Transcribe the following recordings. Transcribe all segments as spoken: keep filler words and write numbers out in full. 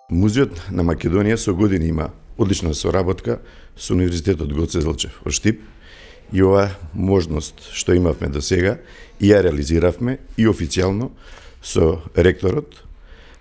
Музеот на Македонија со години има одлична соработка со Универзитетот Гоце Делчев во Штип и ова можност што имавме до сега и ја реализиравме и официјално со ректорот,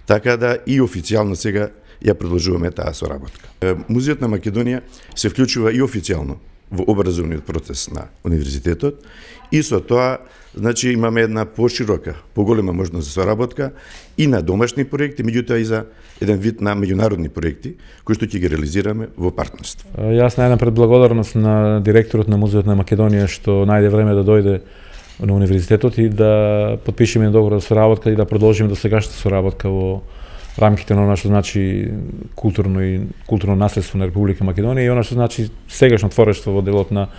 така да и официјално сега ја продолжуваме таа соработка. Музеот на Македонија се вклучува и официјално во образовниот процес на универзитетот и со тоа значи имаме една поширока, поголема можност за соработка и на домашни проекти, меѓутоа и за еден вид на меѓународни проекти кои што ќе ги реализираме во партнерство. Јас најдам предблагодарност на директорот на Музеот на Македонија што најде време да дојде на универзитетот и да потпишеме договор за соработка и да продолжиме до сегашната соработка во рамките на она што значи културно и културно наследство на Република Македонија и она што значи сегашно творештво во делот на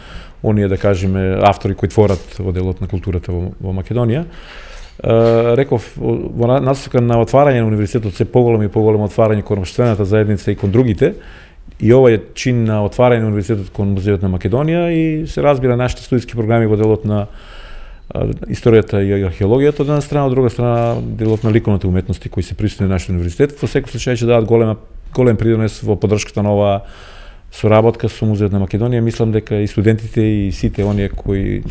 оние, да кажеме, автори кои творат во делот на културата во, во Македонија. Е, реков, во насока на отварање на универзитетот се поголемо и поголемо отварање кон општествената заедница и кон другите, и ова е чин на отварање на универзитетот кон Музеот на Македонија и се разбира нашите студиски програми во делот на историјата и археологијата од една страна, од друга страна делот на ликовните уметности кои се присутни на нашиот универзитет, во секој случај ќе дадат голема голем придонес во поддршката на оваа соработка со Музеот на Македонија. Мислам дека и студентите и сите оние кои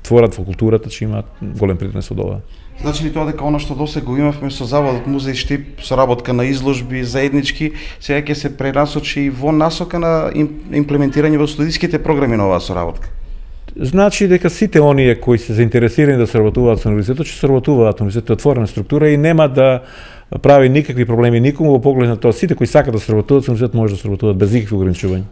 творат во културата ќе имаат голем придонес од ова. Значи ли тоа дека она што досега го имавме со Заводот Музеј Штип, соработка на изложби заеднички, сега ќе се пренасочи и во насока на имплементирање во студиските програми на оваа соработка? Значи дека сите оние кои се заинтересирани да соработуваат со универзитетот ќе соработуваат. Универзитетот е отворена структура и нема да прави никакви проблеми никому во поглед на тоа. Сите кои сакаат да соработуваат со универзитетот може да соработуваат без никакви ограничувања.